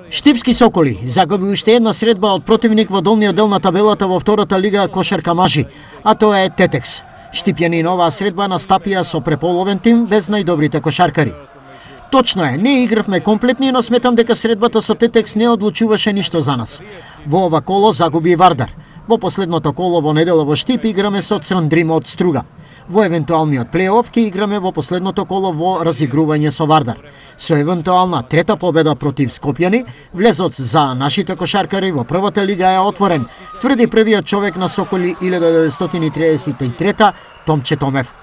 Штипски Соколи загуби уште една средба од противник во долниот дел на табелата во втората лига кошарка мажи, а тоа е Тетекс. Штипјани на оваа средба настапија со преполовен тим без најдобрите кошаркари. Точно е, не игравме комплетни, но сметам дека средбата со Тетекс не одлучуваше ништо за нас. Во ова коло загуби Вардар. Во последното коло во недела во Штип играме со Црн Дрим од Струга. Во евентуалниот плейоф ќе играме во последното коло во разигрување со Вардар. Со евентуална трета победа против Скопјани, влезот за нашите кошаркари во првата лига е отворен, тврди првиот човек на Соколи 1933 Томче Томев.